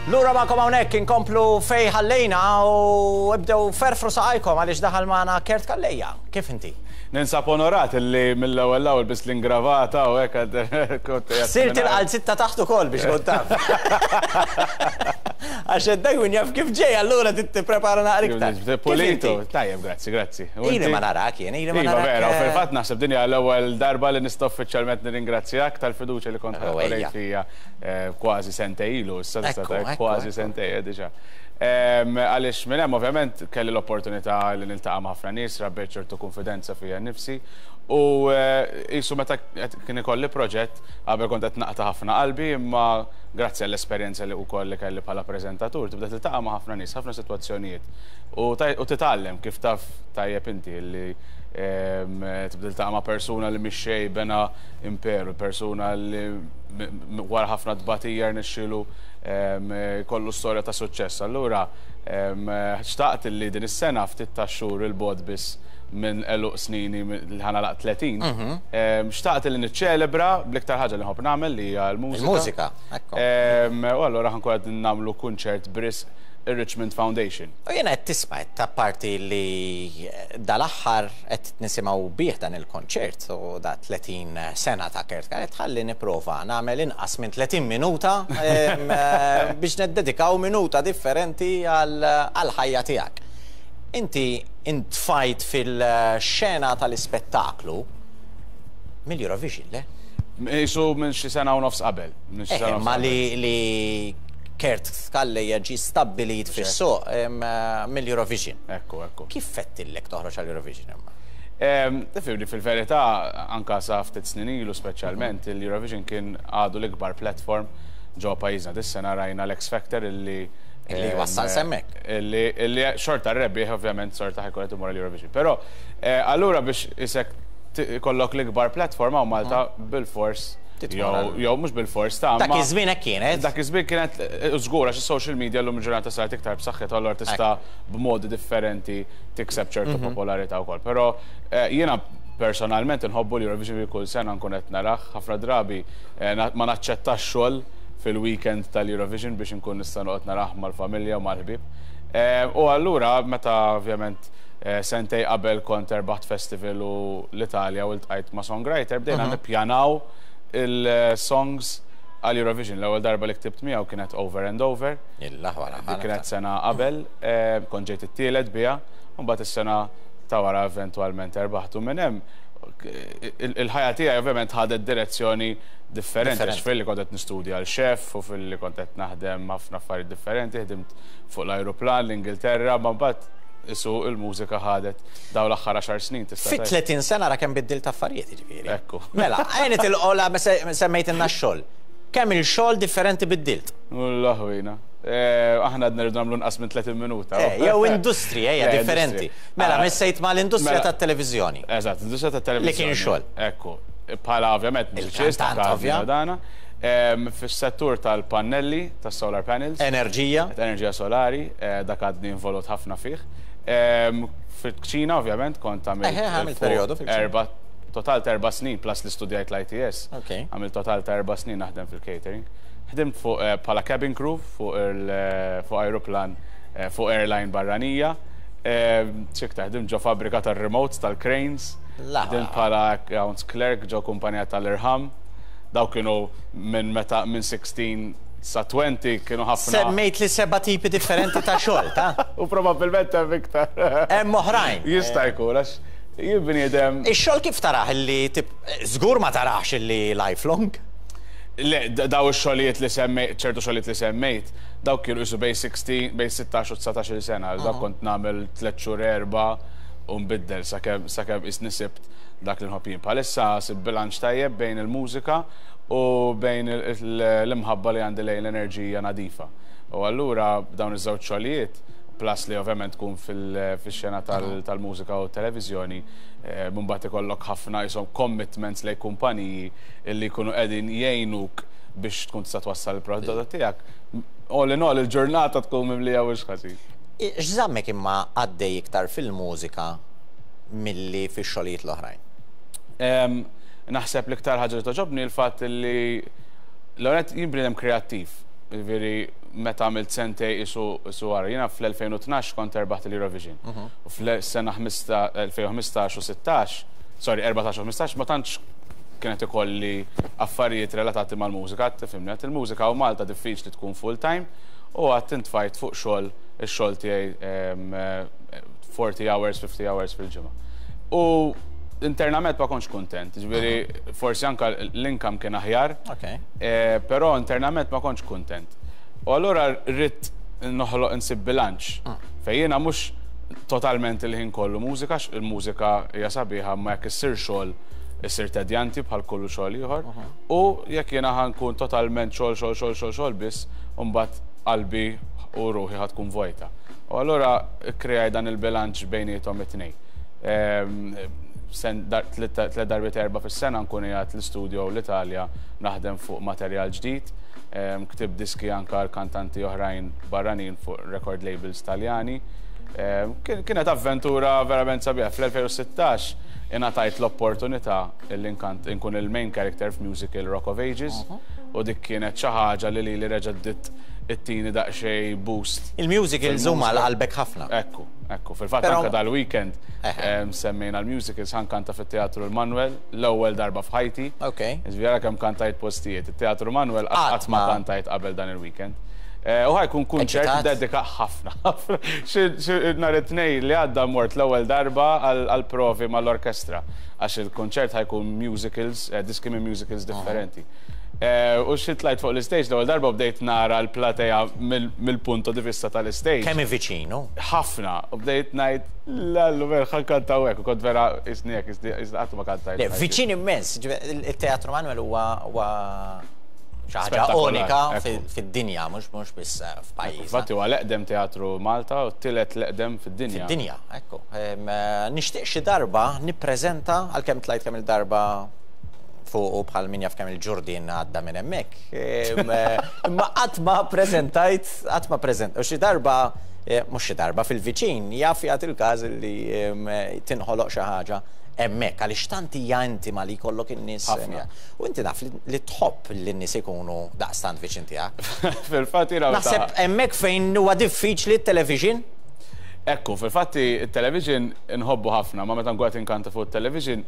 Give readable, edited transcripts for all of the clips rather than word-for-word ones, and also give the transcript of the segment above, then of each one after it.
Lura magħkom hawnhekk inkomplu fejn ħallejna u ibdew ferfru saqajkom għaliex daħal magħna Kurt Calleja. Kif inti? Ninsab onorat li mill-ewwel l-ewwel biss l-ingravata u hekk kont Sirt il-qalzitta taħt ukoll biex kont taf. Għax dak min jaf kif ġej allura trid tipprepara naqra iktar. Pulito, tajjeb, grazzi, grazzi. Ili ma narak jien, ili ma narak. Iva vera, u fil-fatt naħseb din hija l-ewwel darba li nista' uffiċjalment nirringrazzjak tal-fiduċja li kont urejt fija kważi sentejn ilu, issa tista' tgħid kważi sentejn diġà. Għaliex minn hemm ovvjament kelli l-opportunità li niltaqa' ma' ħafna nies, rabbejt ċertu kunfidenza fija nnifsi u qisu meta kien ikolli proġett qabel kont qed naqta' ħafna qalbi imma grazzi għall-esperjenza li wkoll li kelli bħala preżentatur tibda tiltaqa' ma' ħafna nies, ħafna sitwazzjonijiet u titgħallem kif taf tajjeb inti li tibda tiltaqa' ma' persuna li mhix xejn bena imperu, persuna li wara ħafna tbatija rnexxielu jkollu storja ta' suċċess. Allura xtaqt li din is-sena ftit ta' xhur il-bogħod biss minn għeluq snini li ħa nagħlaq 30, xtaqt li niċċelebra bl-iktar ħaġa li nħobb nagħmel li hija l-mużika. Il-mużika, ekku. U allura ħa nkun qed nagħmlu kunċert b'risq ir-Richmond Foundation. U jiena qed tisma' qed apparti li dal-aħħar qed nisimgħu bih dan il-konċert u da 30 sena ta' Kurt Calleja, tħalli nipprova nagħmel inqas minn 30 minuta biex neddedikaw minuta differenti għall-ħajja tiegħek. Inti intfajt fil-xena tal-ispettaklu mill-Eurovision, le? Qisu minn xi sena u nofs qabel. Ma li Kurt Calleja ġie stabbilit fis-suq mill-Eurovision. Ekku, ekku. Kif fettillek toħroġ għall-Eurovision imma? Tifhimni, fil-verità, anka sa ftit snin ilu speċjalment, il-Eurovision kien għadu l-ikbar platform ġo pajjiżna. Dis-sena rajna l-X Factor illi Illi wassal s'hemmhekk. Illi xorta r-rebbieħ ovvjament xorta ħa jkun qed imur għall-Eurovision. Però allura biex isek ikollok l-ikbar platform hawn Malta bil-fors jew mhux bil-fors ta' Dak iż-żmien hekk kienet. Dak iż-żmien kienet żgur għax is-social media llum il-ġurnata saret iktar b'saħħitha allura tista' b'modi differenti tikseb ċertu popolarità wkoll. Però jiena personalment inħobbu l-Eurovision kull sena nkun qed narah, ħafna drabi ma naċċettax xogħol fil-weekend tal-Eurovision biex inkun nista' noqgħod narah mal-familja u mal-ħbieb. U allura meta ovvjament sentej qabel kont erbaħt festival u l-Italja u ltqajt ma' songwriter bdejna nippjanaw il-songs għal Eurovision. L-ewwel darba li ktibt miegħu kienet Over and Over. Dik kienet sena qabel, kont ġejt it-tielet biha, u mbagħad is-sena ta' wara eventwalment erbaħtu minn hemm. Il-ħajja tiegħi ovvjament ħadet direzzjoni differenti, għax filli kont qed nistudja għal chef u filli kont qed naħdem ħafna affarijiet differenti, ħdimt fuq l-ajruplan l-Ingilterra, ma mbagħad isu il-mużika ħadet daw l-aħħar 10 snin tista' Fi 30 sena ra kemm biddilt affarijiet jiġifieri. Ekku. Mela, għajni tilqola semmejt x-xogħol. Kemm il-xogħol differenti biddilt? Ullaħwina. Aħna għadna rridu nagħmlu nqas minn 30 minuta. Jew industrija hija differenti. Mela, missejt ma l-industrija tat-televiżjoni. Eżatt, industrija tat-televiżjoni. Li kien xogħol. Ekku. Bħala ovvjament mużiċist, dana. Fis-settur tal-pannelli, tas-solar panels. Enerġija. Enerġija solari, dak għadni involut ħafna fih. Fil-kċina, ovvjament, kont għamilt periodu fil-kċina. Total ta' 4 snin, plus li studjajt l-ITS. Għamilt total ta' 4 snin naħdem fil-catering. Ħdimt fuq bħala cabin crew fuq aeroplan fuq airline barranija. X'iktar, ħdimt ġo fabbrika tal-remotes, tal-cranes. Ħdimt bħala accounts clerk ġo kumpanija tal-irħam. Daw kienu minn meta minn 16 sa 20 kienu ħafna. Semmejt li seba' tipi differenti ta' xogħol, ta' U probabbilment hemm iktar. Hemm oħrajn. Jista' jkun għax jien bniedem. Ix-xogħol kif tarah li żgur ma tarax illi lifelong? Le, daw ix-xogħlijiet li semmejt, ċertu xogħlijiet li semmejt, daw kienu qisu bejn 16, bejn 16 u 19 sena, dak kont nagħmel 3 xhur 4 u nbiddel sakemm sakemm isni sibt dak li nħobb jien. Bħalissa sib bilanċ tajjeb bejn il-mużika u bejn l-imħabba li għandi lejn l-enerġija nadifa. U allura dawn iż-żewġ xogħlijiet, plus li ovvjament tkun fil-xena tal-mużika u televiżjoni, mbagħad ikollok ħafna jisom commitments lejn kumpaniji illi jkunu qegħdin jgħinuk biex tkun tista' twassal il-prodott tiegħek. All in all, il-ġurnata tkun mimlija mhux ħażin. X'żammek imma għaddej iktar fil-mużika milli fix-xogħlijiet l-oħrajn? Naħseb l-iktar ħaġa li togħġobni l-fatt li l-għonet jien bniedem kreattiv. Jiġifieri meta għamilt sentej isu isu wara. Jiena fl-2012 kont erbaħt l-Eurovision. U fl-sena 2015 u 16, sorry, 14 u 15 ma tantx kienet ikolli affarijiet relatati mal-mużika, tifhimni, għedt il-mużika u Malta diffiċli tkun full time u għedt intfajt fuq xogħol ix-xogħol tiegħi 40 hours, 50 hours fil-ġimgħa. U internament ma kontx kuntent, ġifieri forsi anka l-income kien aħjar, però internament ma kontx kuntent. U allura rrid noħloq insib bilanċ fejn jiena mhux totalment il-ħin kollu mużika, il-mużika hija sabiħa ma jekk issir xogħol issir tedjanti bħal kullu xogħol ieħor. U jekk jiena ħa nkun totalment xogħol xogħol xogħol xogħol xogħol biss, u mbagħad qalbi u ruħi ħa tkun vojta. U allura kreaj dan il-bilanċ bejniethom it-tnejn. Tliet darbiet 4 fis-sena nkun qiegħed l-istudio l-Italja naħdem fuq materjal ġdid. Ktibt diski anka l-kantanti oħrajn barranin fuq record labels Taljani. Kienet avventura verament sabiħa. Fl-2016 ingħatajt l-opportunità li nkun il-main character f'musical Rock of Ages u dik kienet xi ħaġa li reġgħet ittini daqsxejn boost. Il-musicals huma l-qalbek ħafna. Ekku, ekku. Fil-fatt anke dal-weekend semmejna l-musicals, ħa nkanta fit-Teatru l-Manuel l-ewwel darba f'ħajti. Ġifieri kemm kantajt postijiet. Il-Teatru Manuel qatt ma kantajt qabel dan il-weekend. U ħa jkun kunċert dedika ħafna. Nhar it-Tnejn li għadda mort l-ewwel darba għal-provi mal-orkestra għax il-kunċert ħa jkun musicals, diski minn musicals differenti. U xi tlajt fuq l-stage l-ewwel darba bdejt nara l-platea mill-punto di vista tal-stage. Kemm viċinu? Ħafna. U bdejt ngħid, lallu ver ħa nkanta hekk, u kont vera isniek, qatt ma kantajt. Viċin immens, il-Teatru Manuel huwa xi ħaġa unika fid-dinja, mhux biss f'pajjiż. Infatti huwa l-eqdem teatru Malta u t-tielet l-eqdem fid-dinja. Fid-dinja, ekku. Nixtieq xi darba nippreżenta għalkemm tlajt kemm il-darba fuq u bħal min jaf kemm il-ġurdien għadda minn hemmhekk. Imma qatt ma preżentajt, qatt ma preżent. U xi darba, mhux xi darba fil-viċin, jaf jagħti il-każ li tinħoloq xi ħaġa hemmhekk għaliex tant hija intima li jkollok in-nies. U inti naf li tħobb li n-nies ikunu daqstant viċin tiegħek. Fil-fatt jiena Naħseb hemmhekk fejn huwa diffiċli t-television. Ekku, fil-fatti il-television nħobbu ħafna, ma meta nkun qed inkanta fuq il-television,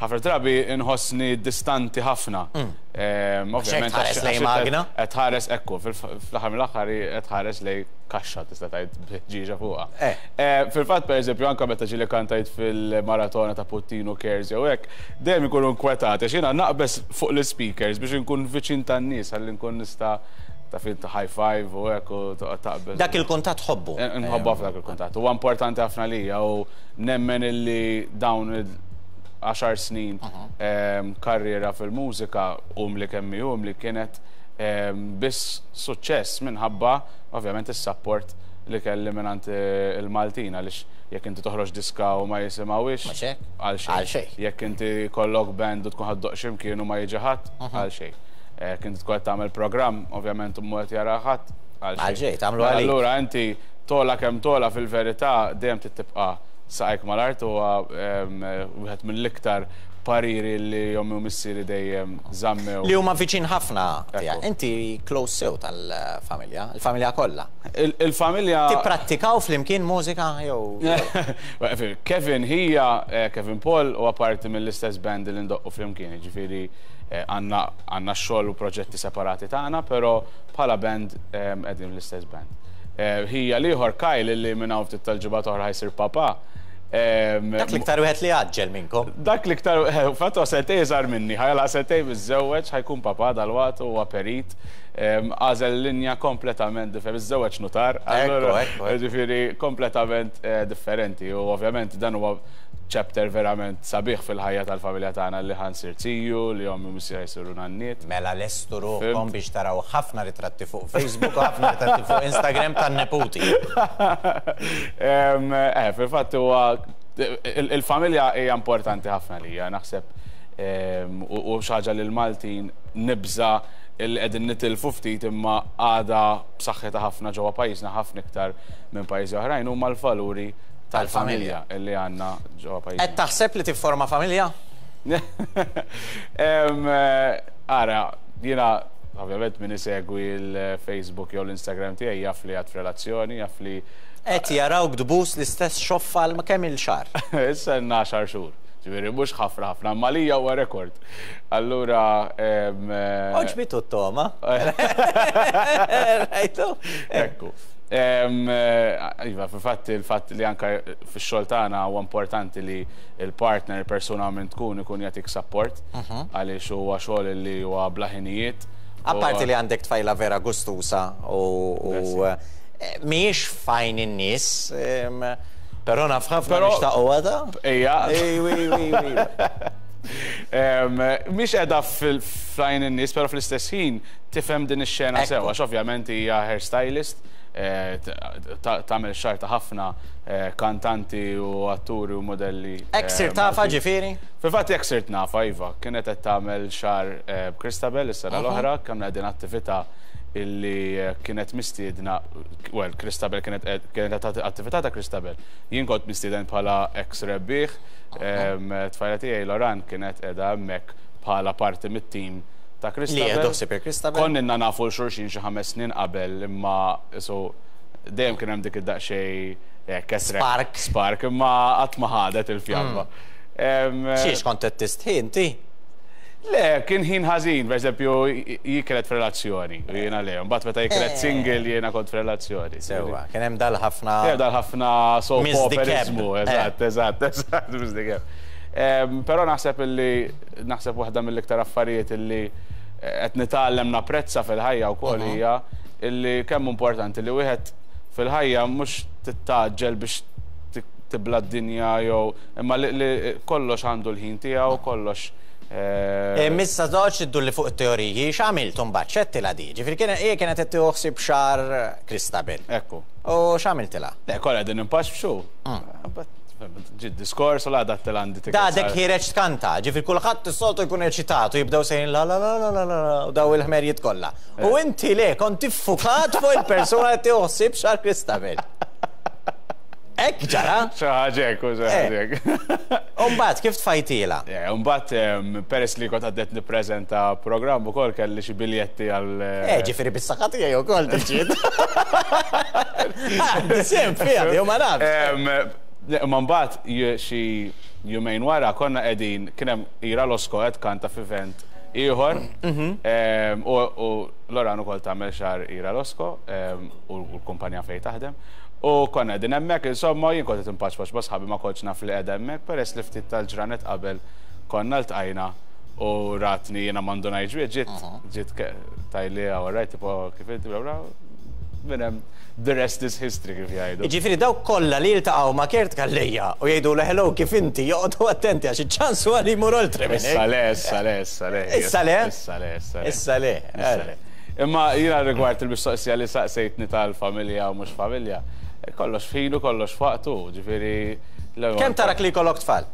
ħafna drabi nħossni distanti ħafna. Ovvjament tħares lejn magna? Qed tħares ekku, fl-aħħar mill-aħħar qed tħares lejn kaxxa tista' tgħid b'ħġieġa fuqha. Fil-fatt pereżempju anke meta ġieli kantajt fil-maratona ta' Puttinu Cares jew hekk, dejjem ikunu nkwetati għax jiena naqbeż fuq l-speakers biex inkun viċin tan-nies ħalli nkun nista' ta' fin ta' high five u hekk u toqgħod taqbeż. Dak il-kuntatt ħobbu. Nħobbu ħafna dak il-kuntatt. Huwa importanti ħafna lija u nemmen illi dawn il-10 snin karriera fil-mużika umli kemm hi umli kienet biss suċċess minħabba ovvjament is-support li kelli mingħand il-Maltin għaliex jekk inti toħroġ diska u ma jisimgħuhiex għal xejn. Għal xejn. Jekk inti kollok band u tkun ħa ddoqq x'imkien u ma jiġi ħadd għal xejn. Jekk inti tkun qed tagħmel programm, ovvjament mhu qed jara ħadd għal xejn. Għal xejn, tagħmlu għalik. Allura inti tola kemm tola fil-verità dejjem tibqa' saqajk mal-art huwa wieħed mill-iktar pariri li ommi u missieri dejjem żammew. Li huma viċin ħafna tiegħek. Inti close sew tal-familja, il-familja kollha. Il-familja Tipprattikaw flimkien mużika jew? Kevin hija Kevin Paul huwa parti mill-istess band li ndoqqu flimkien, jiġifieri għandna xogħol u proġetti separati tagħna, però bħala band qegħdin l-istess band. Hija l-ieħor Kyle li minn hawn ftit tal-ġimgħat oħra ħa jsir papa. Dak l-iktar wieħed li għaġġel minnkom. Dak l-iktar, fattu sentej iżgħar minni, ħa jagħlaq sentej miżżewweġ, ħa jkun papa dalwaqt huwa perit. Għażel linja kompletament differenti, miżżewweġ nutar, allura ġifieri kompletament differenti u ovvjament dan huwa chapter verament sabiħ fil-ħajja tal-familja tagħna li ħa nsir ziju, li ommi u missieri jsiru nanniet. Mela lestu ruħkom biex taraw ħafna ritratti fuq Facebook u ħafna ritratti fuq Instagram tan-neputi. Fil-fatt huwa il-familja hija importanti ħafna lija, naħseb u xi ħaġa li l-Maltin nibża il qegħdin nitilfu ftit imma għadha b'saħħitha ħafna ġewwa pajjiżna ħafna iktar minn pajjiżi oħrajn huma l-valuri tal-familja illi għandna ġewwa pajjiżna. Qed taħseb li tifforma familja? Ara, jiena Ovvjament min isegwi l-Facebook jew l-Instagram tiegħi jaf li għad f'relazzjoni, jaf li. Qed jarawk tbus l-istess xoffa għal kemm il xahar? Issa ilna għaxar xhur. Ġifieri mhux ħafna ħafna, imma għalija huwa rekord. Allura. Għoġbitu t-togħma. Rajtu? Ekku. Iva, fil-fatt il-fatt li anke fix-xogħol tagħna huwa importanti li il-partner, il-persuna minn tkun ikun jagħtik support għaliex huwa xogħol li huwa bla ħinijiet. Apparti li għandek tfajla vera gustusa u mhijiex f'għajn in-nies, però naf ħafna li xtaqu għada. Ejja. Mhix qiegħda f'għajn in-nies, però fl-istess ħin tifhem din ix-xena sew, għax ovvjament hija hairstylist, tagħmel xagħar ta' ħafna kantanti u atturi u modelli. Hekk sirt tafha ġifieri? Fil-fatt hekk sirt nafha, iva. Kienet qed tagħmel xagħar b'Cristabel is-sena l-oħra, konna qegħdin attività illi kienet mistiedna, well, Christabel kienet kienet attività ta' Christabel. Jien kont mistieden bħala ex rebbieħ, tfajla tiegħi Loran kienet qiegħda hemmhekk bħala parti mit-tim ta' Christabel. Li jieħdu ħsieb il-Christabel. Konna ilna nafu 'l xulxin xi ħames snin qabel imma so dejjem kien hemm dik id-daqsxejn Spark. Spark, imma qatt ma ħadet il-fjamma. Xiex kont qed tistħi inti? Le, kien ħin ħażin, per eżempju, hi kienet f'relazzjoni u jiena le. Mbagħad meta hi kienet single jiena kont f'relazzjoni. Sewwa, kien hemm dal-ħafna. Kien hemm dal-ħafna soap operizmu, eżatt, eżatt, eżatt, Miss the Cab. Però naħseb illi naħseb waħda mill-iktar affarijiet illi qed nitgħallem napprezza fil-ħajja wkoll hija illi kemm importanti li wieħed fil-ħajja mhux titgħaġġel biex tibla d-dinja jew imma li kollox għandu l-ħin tiegħu, kollox. Issa toqgħodx iddulli fuq it-teoriji, x'għamilt imbagħad? X'għedtilha di? Ġifieri kien hi kienet qed tieħu ħsieb xagħar Christabel. Ekku. U x'għamiltilha? Le, kollha qegħdin inpaxpxu. Ġie d-diskors u l-għada għedtilha għandi tickets. Għadek ħiereġ tkanta, ġifieri kulħadd is-soltu jkun eċitat u jibdew sejrin la la la la la la u daw il-ħmerjiet kollha. U inti le, kont iffukat fuq il-persuna li tieħu ħsieb xagħar Christabel. Hekk ġara? Xi ħaġa hekk, xi ħaġa hekk. U mbagħad kif tfajtilha? U mbagħad peress li kont għaddejt nippreżenta programm ukoll kelli xi biljetti għal. Eh, ġifieri bis-saħħa tiegħi wkoll tiġi. Għandi sehem fiha jew ma nafx. Imma mbagħad xi jumejn wara konna qegħdin kien hemm Ira Losco qed tkanta f'event ieħor u Loran ukoll tagħmel xagħar Ira Losco u l-kumpanija fejn taħdem. U konna qegħdin hemmhekk, insomma, jien kont qed inpaċpaċ ma' sħabi ma kontx naf li qiegħda hemmhekk peress li ftit tal-ġranet qabel konna ltqajna u ratni jiena ma ndunajtx biha, ġiet ġiet tgħidli all right, tipo kif inti bla bla, minn hemm the rest is history kif jgħidu. Jiġifieri dawk kollha li jiltaqgħu ma' Kurt Calleja u jgħidulu hello kif inti joqogħdu attenti għax iċ-ċans huwa li jmur oltre minn hekk. Issa le, issa le, issa le. Issa le? Issa le, issa le. Issa le. Issa le. Imma jiena rigward il-mistoqsija li saqsejtni tal-familja u mhux familja, kollox f'ħinu, kollox f'waqtu, ġifieri. Kemm tarak li jkollok tfal?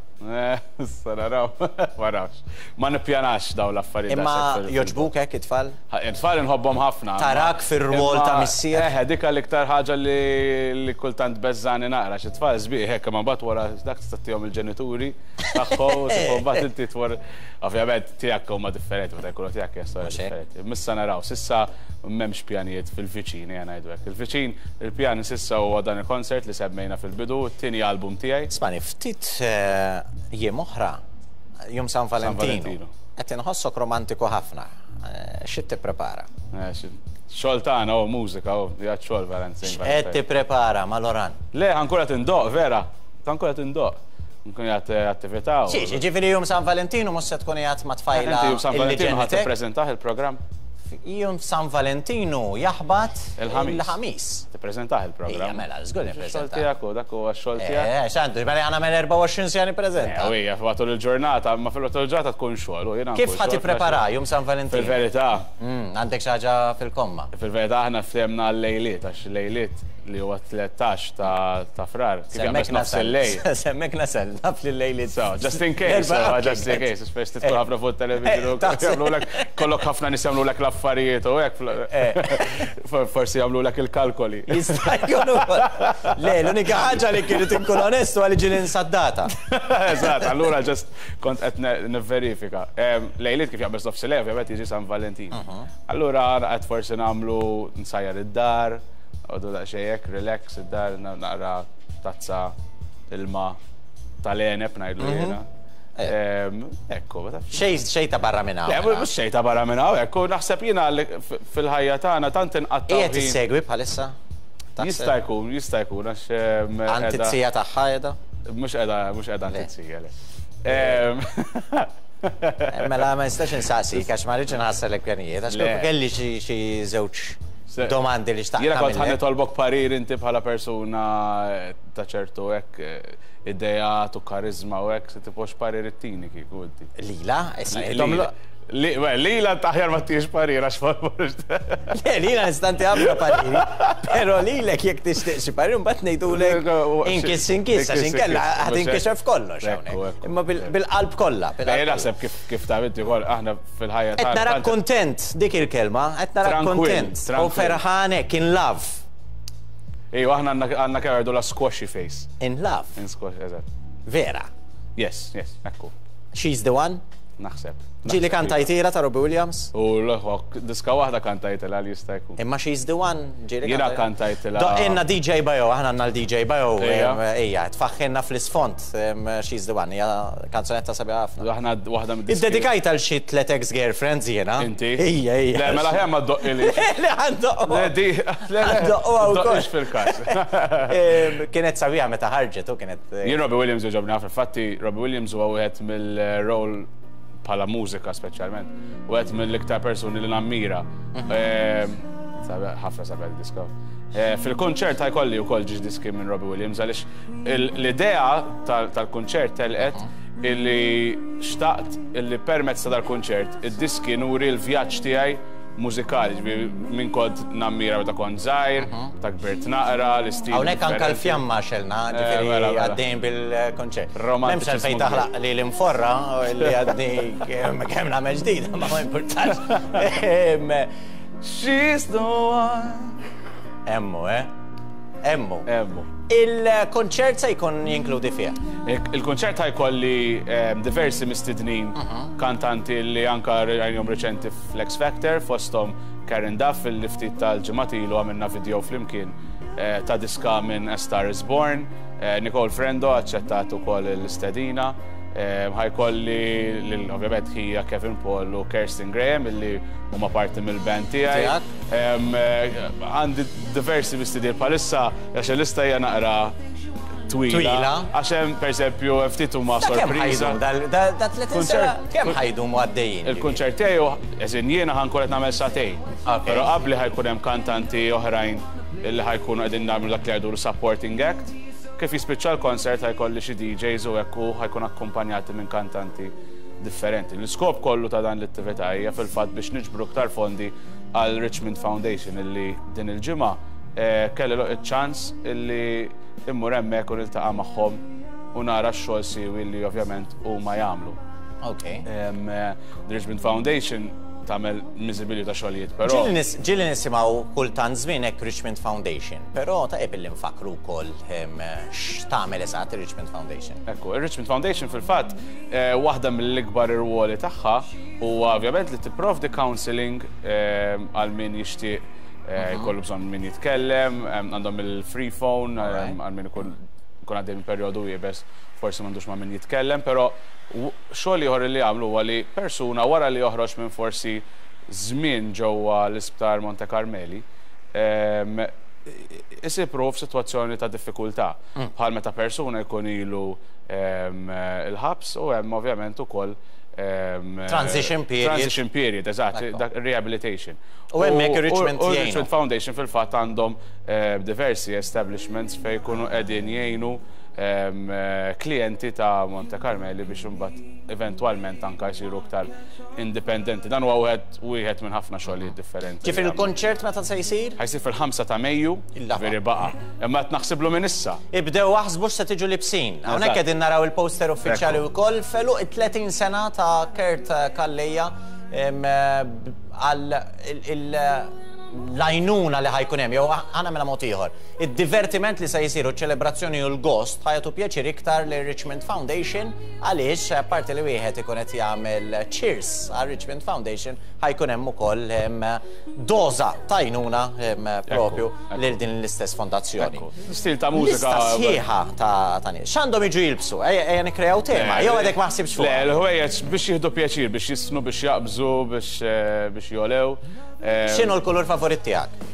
Issa naraw, ma nafx. Ma nippjanax dawn l-affarijiet. Imma jogħġbuk hekk it-tfal? It-tfal inħobbhom ħafna. Tarak fir-rwol ta' missier? Eħe, dik l-iktar ħaġa li kultant beżżagħni naqra, xi tfal sbieħ hekk, imma mbagħad wara dak tista' ttihom il-ġenituri tagħhom, tipo mbagħad inti tmur. Ovvjament tiegħek huma differenti, meta jkunu tiegħek hija storja differenti. Missa naraw, s'issa m'hemmx pjanijiet fil-viċin, ejja ngħidu hekk. Il-viċin, il-pjan s'issa huwa dan il-concert li semmejna fil-bidu, it-tieni album tiegħi. Ismagħni, ftit jiem oħra, jum San Valentinu. Qed inħossok romantiku ħafna. Xi tipprepara? Xogħol tagħna hu mużika hu, qiegħed xogħol Valentine. X'qed tipprepara ma' Loran? Le, ħa nkun qed indoqq, vera. Ħa nkun qed indoqq. Nkun qiegħed attività. Xiex, jiġifieri jum San Valentinu mhux se tkun qiegħed ma' tfajla. Inti jum San Valentinu ħa tippreżentah il-programm? Jum San Valentinu jaħbat il-Ħamis. Tippreżentah il-programm. Ija mela, żgur nippreżentah. Xogħol tiegħek hu, dak huwa x-xogħol tiegħek. Eh, x'għandu, mela ħa nagħmel 24 siegħa nippreżenta. Eh, ija, matul il-ġurnata, ma fil-matul il-ġurnata tkun xogħol. Kif ħa tipprepara jum San Valentinu? Fil-verità. Għandek xi ħaġa fil-komma? Fil-verità aħna ftehemna għal-lejliet, għax lejliet. li huwa 13 ta' Frar, kif jaqbeż nofs il-lejl. Semmek nasal, naf li l-lejl. So, just in case, just in case, spex tidħol ħafna fuq television, jagħmlulek kollok ħafna nies jagħmlulek l-affarijiet u hekk. Forsi jagħmlulek il-kalkoli. Jista' jkun ukoll. Le, l-unika ħaġa li kienet inkun onestu għal ġieli nsaddata. Eżatt, allura just kont qed nivverifika. Lejliet kif jaqbeż nofs il-lejl, ovvjament jiġi San Valentin. Allura qed forsi nagħmlu nsajjar id-dar, għodu daqsxejn hekk, relax id-dar, naqra tazza ilma tal-għeneb ngħidlu jiena. Ekku, ma tafx. Xejn ta' barra minn hawn. Le, mhux xejn ta' barra minn hawn, ekku, naħseb jiena fil-ħajja tagħna tant inqattgħu. Qiegħed issegwi bħalissa? Jista' jkun, jista' jkun għax. Għand it-tija tagħha qiegħda? Mhux qiegħda, mhux qiegħda għand it-tija, le. Mela ma nistax insaqsik għax ma rridx inħassarlek pjanijiet, għax kieku kelli xi żewġ domandi li xtaqt. Jiena kont ħa nitolbok parir inti bħala persuna ta' ċertu hekk ideat u kariżma u hekk, se tipo x'parir ittini kieku inti. Lila? Issa Lila aħjar ma ttihiex parir għax Le, lila nista' nti ħafna pariri, però lilek jekk tixtieq xi parir mbagħad ngħidulek inkiss inkiss għax inkella ħa tinkixef kollox hawnhekk. Imma bil-qalb kollha. Jien naħseb kif taf inti wkoll aħna fil-ħajja tagħna. Qed narak kuntent, dik il-kelma, qed narak kuntent u ferħan hekk in love. Ejwa aħna għandna kemm jgħidu la squashy face. In love. In squashy, eżatt. Vera. Yes, yes, ekku. She's the one? Naħseb. Ġieli kantajtila ta' Robbie Williams? U l-ħok, diska waħda kantajtila li jista' jkun. Imma She's the One ġieli Jiena kantajtila. Doqqilna DJ Bajo, aħna għandna l-DJ Bajo, ejja, tfaħħilna fl-isfond She's the One, hija kanzunetta sabiħa ħafna. Aħna waħda mid-diski. Iddedikajtha għal xi tliet ex-girlfriends jiena. Inti? Ejja, ejja. Le, mela aħjar ma ddoqqilix. Le, ħa ndoqqha. Le, di, le, le. Ndoqquha wkoll. Ddoqqhiex fil-każ. Kienet sabiħa meta ħarġet u kienet. Jien Robbie Williams jogħġobni ħafna, infatti Robbie Williams huwa wieħed mill-role bħala mużika speċjalment, wieħed mill-iktar persuni li nammira. Ħafna sabiħ diska. Fil-konċert ħajkolli wkoll ġiex diski minn Robbie Williams għaliex l-idea tal-konċert telqet illi xtaqt illi permezz ta' dal-konċert id-diski nuri l-vjaġġ tiegħi mużikali, ġifieri minn kont nammira meta kont żgħir, ta' kbirt naqra, l-istil. Hawnhekk anke l-fjamma xelna, ġifieri mela, mela. għaddejn bil-konċert. M'hemmx Romantiċiżmu għalfejn taħlaq li l-inforra li għadni kemm nagħmel ġdida, ma ma importax. She's the one. Emmu, eh? Emmu. Emmu. Il-konċert se jkun jinkludi fih? Il-konċert ħajkolli diversi mistednin kantanti li anka rajnihom reċenti fl-X Factor, fosthom Karen Duff li ftit tal-ġimgħat ilu għamilna video flimkien ta' diska minn A Star Is Born, Nicole Frendo aċċettat ukoll l-istedina, ħajkolli lil ovvjament ħija Kevin Paul u Kirsten Graham illi huma parti mill-band tiegħi. Għandi diversi mistednin bħalissa għax il-lista hija naqra twila. Twila. Għax hemm pereżempju ftit huma Da kemm sorpriża. ħajdum da 30 sena, kemm ħajdum għaddejjin? Il-kunċert tiegħi eżin jiena ħankun qed nagħmel sagħtejn. Però qabli ħajkun hemm kantanti oħrajn illi ħajkunu qegħdin nagħmlu dak li jgħidu supporting act. Kif jispiċċa l-konsert ħajkolli xi DJs u hekk u ħajkun akkumpanjati minn kantanti differenti. L-iskop kollu ta' dan l-attività hija fil-fatt biex niġbru iktar fondi għal Richmond Foundation illi din il-ġimgħa kelli iċ-ċans illi immur hemmhekk u niltaqa' magħhom u nara x-xogħol siwi li ovvjament huma jagħmlu. The Richmond Foundation tagħmel miżibilju ta' xogħlijiet, però Ġieli nisimgħu kultant żmien hekk Richmond Foundation, però tajjeb illi nfakru wkoll x'tagħmel eżatt ir-Richmond Foundation. Ekku, ir-Richmond Foundation fil-fatt waħda mill-ikbar irwoli tagħha huwa ovvjament li tipprovdi counseling għal min jixtieq jkollu bżonn min jitkellem, għandhom il-free phone għal min ikun għaddej minn perjodu iebes, forsi m'għandux ma' min jitkellem, però xogħol ieħor li jagħmlu huwa li persuna wara li joħroġ minn forsi żmien ġewwa l-Isptar Monte Carmeli, isib ruħu f'sitwazzjoni ta' diffikultà. Bħal meta persuna jkun ilu il-ħabs u hemm ovvjament ukoll Transition period. Transition period, eżatt, dak rehabilitation. U hemmhekk ir-Richmond U jgħinu. Richmond Foundation fil-fatt għandhom diversi establishments fejn jkunu qegħdin jgħinu Klijenti ta' Monte Carmeli biex imbagħad eventwalment anka jsiru iktar indipendenti. Dan huwa wieħed wieħed minn ħafna xogħlijiet differenti. Ġifieri l-kunċert meta se jsir? Ħa jsir fil-5 ta' Mejju, ġifieri baqa'. Imma qed naħsiblu minn issa. Ibdew aħsbu x'se tiġu libsin. Hawnhekk qegħdin naraw il-poster uffiċjali wkoll f'għeluq it-30 sena ta' Kurt Calleja għal l-għajnuna li ħa jkun hemm, jew ħa nagħmilha mod ieħor, id-divertiment li se jsir u ċ-ċelebrazzjoni u l-gost ħa jagħtu pjaċir iktar lir-Richmond Foundation għaliex apparti li wieħed ikun qed jagħmel cheers għar-Richmond Foundation ħa jkun hemm ukoll doża ta' għajnuna propju lil din l-istess fondazzjoni. Stil ta' mużika. Lista sħiħa ta' nies. X'għandhom jiġu jilbsu? Ejja nikkreaw tema, jew għadek ma ħsibtx fuqha? Le, l-ħwejjeġ biex jieħdu pjaċir, biex jisfnu, biex jaqbżu, biex jogħlew. X'inhu l-kulur favorit tiegħek?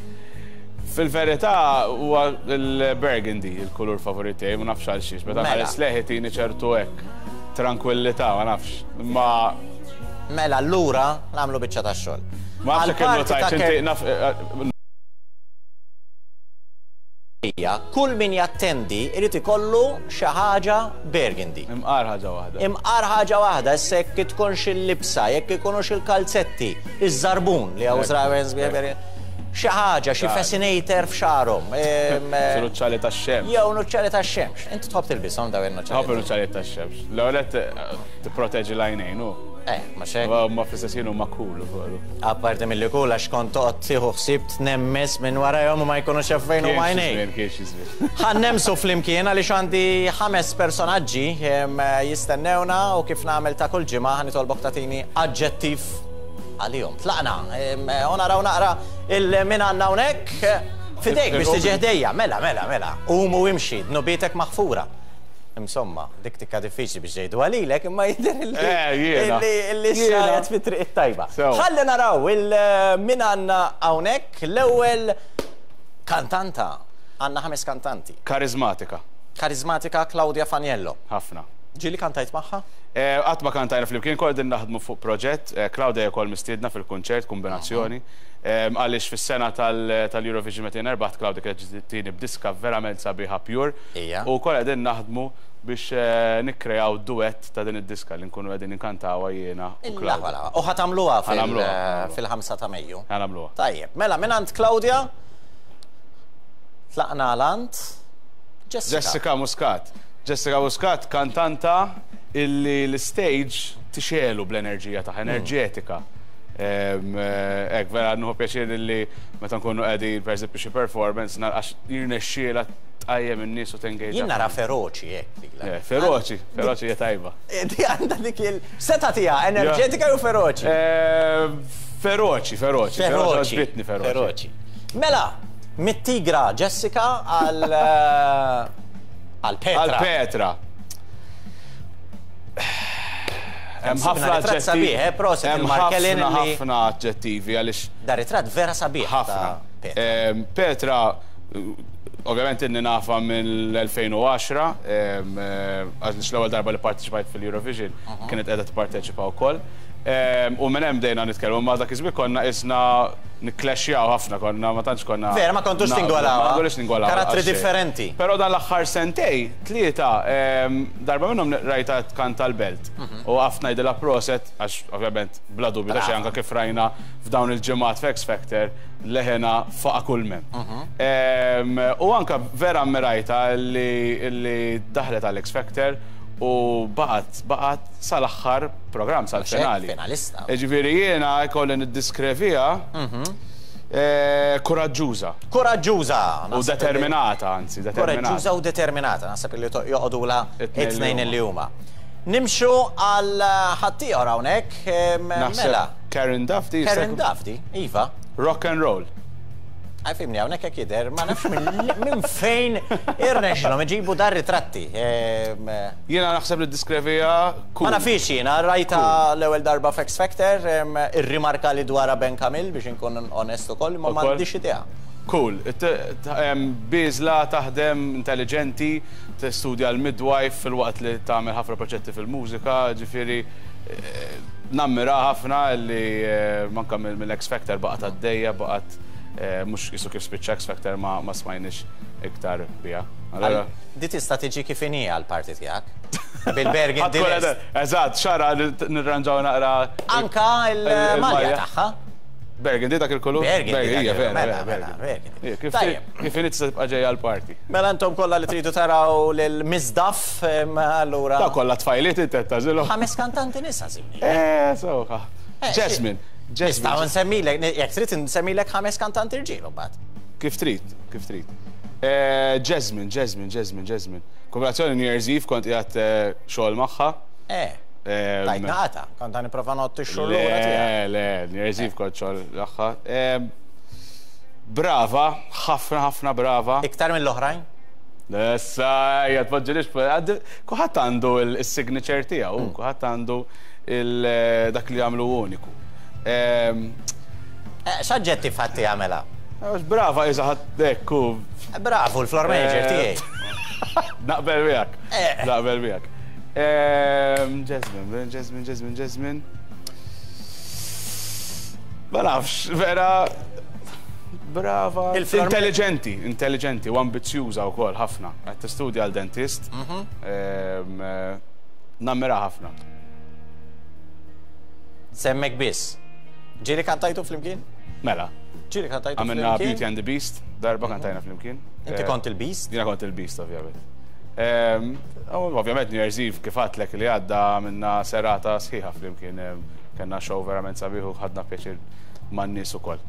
Fil-verità huwa l-burgundy il-kulur favorit tiegħi, ma nafx għal xiex. Meta mela. nħares lejh itini ċertu hekk tranquillità, ma nafx. Ma Mela allura nagħmlu biċċa tax-xogħol. Ma nafx jekk innotajtx inti naf eh, Hija, kull min jattendi jrid ikollu xi ħaġa burgundy. Imqar ħaġa waħda. Imqar ħaġa waħda, issa jekk tkunx il-libsa, jekk ikunux il-kalzetti, iż-żarbun li hawn żraben sbieħ xi ħaġa, xi fascinator f'xagħarhom. Xi nuċċali tax-xemx. Jew nuċċali tax-xemx. Inti tħobb tilbishom dawn in-nuċċali? Nħobb in-nuċċali tax-xemx. L-ewwel nett tipproteġi l-għajnejn hu. Eh, ma xejn. Ma fl-istess ħin huma cool ukoll. Apparti milli cool għax kont toqgħod tieħu ħsieb tnemmes minn warajhom u ma jkunux jafu fejn huma għajnejk. Kien xi żmien. Ħa nnemsu flimkien għaliex għandi ħames personaġġi jistennewna u kif nagħmel ta' kull ġimgħa ħa nitolbok tagħtini aġġettiv għalihom. Tlaqna u naraw naqra il min għandna hawnhekk. F'idejk biex tiġi ħdejja. Mela, mela, mela. Qum u imxi, dnubietek maħfura. Insomma, dik tikka diffiċli biex jgħiduha lilek, imma jidher li eh, jiena. li xajet fi triq it-tajba. Ħalli naraw il min għandna hawnhekk l-ewwel kantanta. Għandna ħames kantanti. Karizmatika. Karizmatika Claudia Faniello. Ħafna. Ġieli kantajt magħha? Eh, qatt ma kantajna flimkien, kol din naħdmu fuq proġett. Eh, Claudia wkoll mistiedna fil-kunċert, kombinazzjoni. Għaliex fis-sena tal-Eurovision meta jien erbaħt Claudia kienet ġiet b'diska verament sabiħa pure. U wkoll qegħdin naħdmu biex nikkreaw duett ta' din id-diska li nkunu qegħdin inkantawha jiena u Claudia. U ħa tagħmluha fil-5 ta' Mejju? Ħa nagħmluha. Tajjeb, mela mingħand Claudia tlaqna għal għand Jessica. Jessica Muscat. Jessica Muscat kantanta illi l-istage tixegħlu bl-enerġija tagħha, enerġetika. Hekk vera nieħu pjaċir li meta nkunu qegħdin pereżempju xi performance għax jirnexxielha tqajjem in-nies u tengage. Jien nara feroċi hekk lilha. Eh, feroċi, feroċi hija tajba. Di għandha dik il seta tiegħha enerġetika jew feroċi? Eh, feroċi, feroċi. Feroċi. Feroċi. Feroċi. Mela, mit-tigra Jessica għal għal Petra. Għal Petra. Hemm ħafna ritratt sabiħ, eh, proset il-Markelin Hemm ħafna aġġettivi għaliex. Da ritratt vera sabiħ. Ħafna. Petra, ovvjament inni nafa mill-2010, għaliex l-ewwel darba li parteċipajt fil-Eurovision kienet qiegħda tipparteċipa wkoll. U minn hemm bdejna nitkellmu, ma dak iż-żmien konna qisna nikklexxjaw ħafna, konna ma tantx konna. Vera, ma kontux tingolaw. Ma kontux tingolaw. Karattri differenti. Però dan l-aħħar sentej, tlieta, darba minnhom rajtha tkanta l-Belt. U waqaft ngħidilha proset, għax ovvjament bla dubju ta' xejn anke kif rajna f'dawn il-ġimgħat f'X Factor, leħenha faqa' kull m'hemm. U anke vera ammirajtha li daħlet għal X Factor u baqgħet baqgħet sal-aħħar programm, sal-finali. Finalista. Jiġifieri jiena jkolli niddeskriviha kuraġġuża. Kuraġġuża! U determinata, anzi, determinata. Kuraġġuża u determinata, naħseb li joqogħdulha it-tnejn li huma. Nimxu għal ħaddieħor hawnhekk, mela. Karen Duff di. Karen Duff di, iva. Rock and roll. Għaj fimni hawnhekk hekk jidher, ma nafx minn fejn irnexxilhom iġibu dar ritratti. Jiena naħseb li ddiskrevija cool. Ma nafhiex jiena, rajtha l-ewwel darba f'X Factor, irrimarka li dwarha Ben Camille biex inkun onest ukoll, imma m'għandix idea. Cool. Bieżla, taħdem, intelliġenti, tistudja l-midwife filwaqt li tagħmel ħafna proġetti fil-mużika, ġifieri nammiraha ħafna li anke mill-X Factor baqgħet għaddejja, baqgħet. Mhux qisu kif spiċċa X Factor ma smajniex iktar biha. Allura. Di tista' tiġi kif inhi għall-party tiegħek. Bil-burgundy list. Eżatt, xara nirranġaw naqra. Anka l-malja tagħha. Burgundy dak il-kulur? Burgundy. Hija vera. Mela, burgundy. Kif inhi tista' tibqa' ġejja għall-party. Mela intom kollha li tridu taraw lil Miss Duff, allura. Dawn kollha tfajliet inti qed tagħżilhom. Ħames kantanti nisa żimni. Eh, sewwa. Jasmine. Nistgħu nsemmilek, jekk trid nsemmilek ħames kantanti rġiel imbagħad. Kif trid, kif trid. Eh, Jasmine, Jasmine, Jasmine, Jasmine. Kombinazzjoni New Year's Eve kont qiegħed eh, xogħol magħha. Eh. Tajt naqata, kont għan nipprova nott ix-xogħol lura tiegħek. Le, le, New Year's Eve kont xogħol magħha. Brava, ħafna ħafna brava. Iktar mill-oħrajn? Issa, ejja tpoġġilix, kulħadd għandu il-signature tiegħu, mm. kulħadd għandu dak li jagħmlu uniku. Eh, x'aġġetti fatti jagħmela? Eh, brava, iża ħadd ekku. Eh, bravu, l-floor manager tiegħi. Naqbel miegħek. Naqbel miegħek. Jasmine, Jasmine, Jasmine, Jasmine. Ma nafx, vera brava. Intelligenti, intelligenti u ambizzjuża wkoll ħafna. Qed tistudja għal dentist. Mhm. Eh, nammira ħafna. Semmek biss. Ġieli kantajtu flimkien? Mela. Ġieli kantajtu flimkien? Għamilna Beauty and the Beast, darba mhm. kantajna flimkien. Inti eh, kont il-Beast? Jiena kont il-Beast, ovvjament. Ehm, ovvjament New Year's Eve kif għatlek li għadda minna serata sħiħa flimkien. Ehm, kellna show verament sabiħ u ħadna pjaċir man-nies ukoll.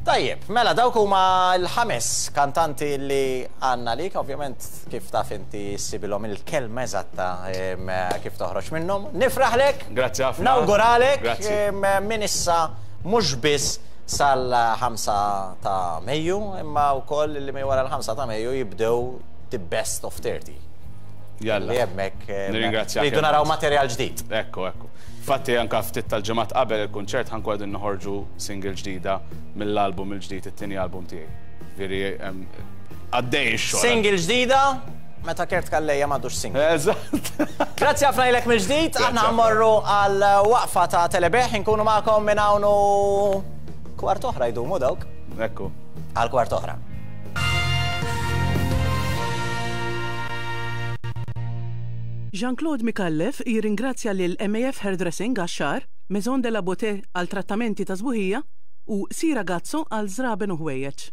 Tajjeb, mela dawk huma l-ħames kantanti li għandna għalik, ovvjament kif taf inti ssibilhom il-kelma eżatta kif toħroġ minnhom. Nifraħlek! Grazzi ħafna. Nawguralek minn issa mhux biss sal-5 ta' Mejju, imma wkoll li minn wara l-5 ta' Mejju jibdew the best of 30. Jalla. Li hemmhekk Nirringrazzjak. Rridu naraw materjal ġdid. Ekku, ekku. Fatti anka ftit tal-ġimgħat qabel il-kunċert ħankun qegħdin noħorġu single ġdida mill-album il-ġdid, it-tieni album tiegħi. Veri għaddej ix-xogħol. Single ġdida meta Kurt Calleja m'għadux single. Eżatt. Grazzi ħafna lilek mill-ġdid, aħna ħammorru għal waqfa ta' telebeħ, inkunu magħkom minn hawn u kwart oħra jdumu dawk. Ekku. Għal kwart oħra. Jean Claude Micallef jirringrazzja lil MAF Hairdressing għax-xagħar, Maison de la Beauté għal trattamenti ta' sbuħija u Sira Gazzo għal żraben u ħwejjeġ.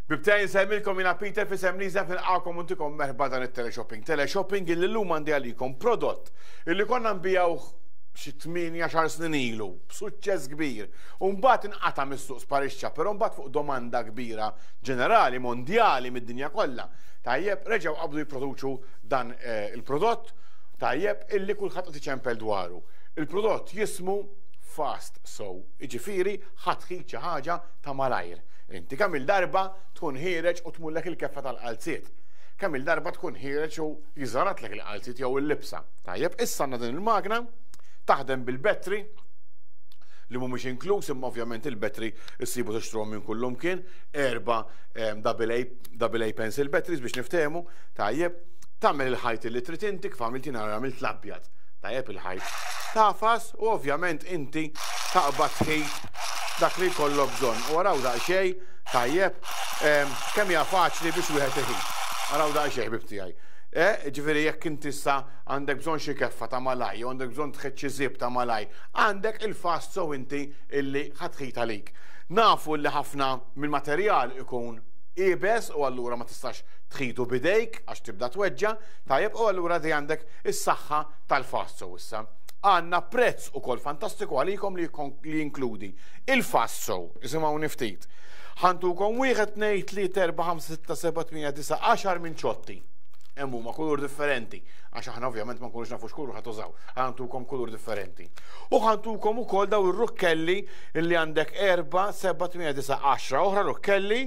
Bibtej nsemmilkom jina Peter fisem Liza fil-għakom untikom merħba dan il-teleshopping. Teleshopping illi l-lum għandi għalikom prodott illi konna nbijawh xi 8 snin ilu b'suċċess kbir. U mbagħad inqata' mis-suq sparixxa, però mbagħad fuq domanda kbira ġenerali, mondjali mid-dinja kollha. Tajjeb, reġgħu qabdu jipproduċu dan eh, il-prodott tajjeb illi kulħadd qed iċempel dwaru. Il-prodott jismu Fast Sew, jiġifieri ħa tħit xi ħaġa ta' malajr. Inti kemm il-darba tkun ħiereġ u tmullek il-keffa tal-qalziet. Kemm il-darba tkun ħiereġ u jiżaratlek il-qalziet jew il-libsa. Tajjeb, issa għandna din il-magna taħdem bil-battery li mhumiex inkluż imma ovvjament il-battery issibu tixtruhom minn kullumkien, erba' double A, double A pencil batteries biex niftehmu, tajjeb, tagħmel il-ħajt li trid inti kif għamilt jiena għamilt l-abjad. Tajjeb il-ħajt. Tagħfas u ovvjament inti taqbad tħit dak li jkollok bżonn. U araw daqsxejn, tajjeb, kemm hija faċli biex wieħed iħit. Araw daqsxejn ħbib tiegħi. Eh, ġifieri jekk inti issa għandek bżonn xi keffa ta' malaj, jew għandek bżonn tħit xi żieb ta' malaj, għandek il-fast sew inti illi ħa tħit għalik. Nafu li ħafna mill-materjal ikun iebes u allura ma tistax tħitu b'idejk għax tibda tweġġa', tajjeb, u allura di għandek is-saħħa tal-fast sew issa. Għandna prezz ukoll fantastiku għalikom li jinkludi il-fast sew, isimgħuni ftit. Ħantukom 1, 2, 3, 4, 5, 6, 7, 8, 9, 10 minn ċotti. Hemm huma kulur differenti, għax aħna ovvjament ma nkunux nafu x'kulur ħa tużaw. Ħantukom kulur differenti. U ħantukom ukoll daw ir-rukkelli li għandek 4, 7, 8, 9, 10 oħra rukkelli.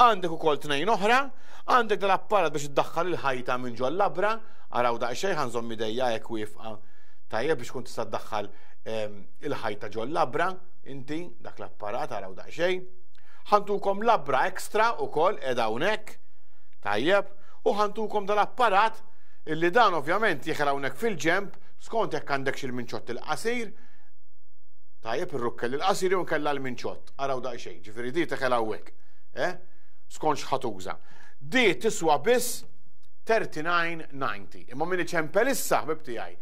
Għandek ukoll tnejn oħra, għandek dal-apparat biex iddaħħal il-ħajta minn ġol-labra, araw daqsxejn ħa nżomm idejja hekk wieqfa tajjeb biex tkun tista' ddaħħal il-ħajta ġol-labra, inti dak l-apparat araw daqsxejn. Ħa ntukom labra extra ukoll qiegħda hawnhekk, tajjeb, u ħa ntukom dal-apparat illi dan ovvjament jeħel hawnhekk fil-ġenb skont jekk għandekx il-minċott il-qasir, tajjeb ir-rukkel il-qasir jew inkella l-minċott. Araw daqsxejn, ġifieri di teħel hawnhekk, eh? Skont x'ħa tuża. Di tiswa biss 39.90. Imma min iċempel issa ħbib tiegħi.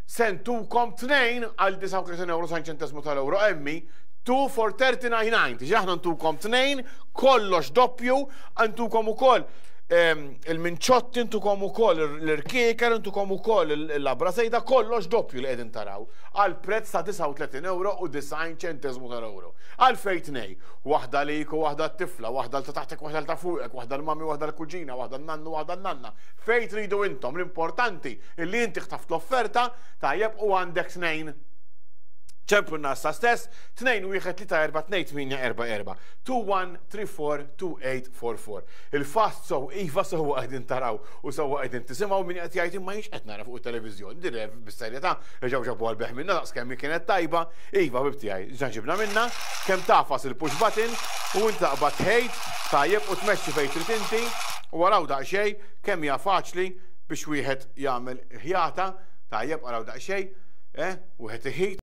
Se ntukom tnejn għal 39 euro san ċentesmu tal-euro emmi 2 for 39.90. Ġi aħna ntukom tnejn, kollox doppju, ntukom ukoll il-minċotti, ntukom ukoll l-irkieker, ntukom ukoll il-labra sejda, kollox doppju li qegħdin taraw għal prezz ta' 39 euro u 90 ċentesmu tal-euro. Għalfejn tnej, waħda lik u waħda t-tifla, waħda l ta' taħtek, waħda l ta' fuqek, waħda l-mami, waħda l-kuġina, waħda l-nannu, waħda l-nanna. Fejn tridu intom, l-importanti illi inti ħtaft l-offerta, tajjeb u għandek tnejn. Ċemplu nassa stess, 2 1 3 4 2 8 4 4 2 1 3 4 2 8 4 4. Il-fast so iva sewwa qegħdin taraw u sewwa qegħdin tisimgħu min qed jgħid imma jiex qed nara fuq it-televiżjoni. Din bis-serjetà reġgħu ġabu għal beħ minna daqs kemm kienet tajba. Iva ħbib tiegħi, ġa ġibna minna, kemm tagħfas il-push button u inti taqbad tħejt tajjeb u tmexxi fejn trid inti u araw daqsxejn kemm hija faċli biex wieħed jagħmel ħjata tajjeb araw daqsxejn, eh, wieħed iħit.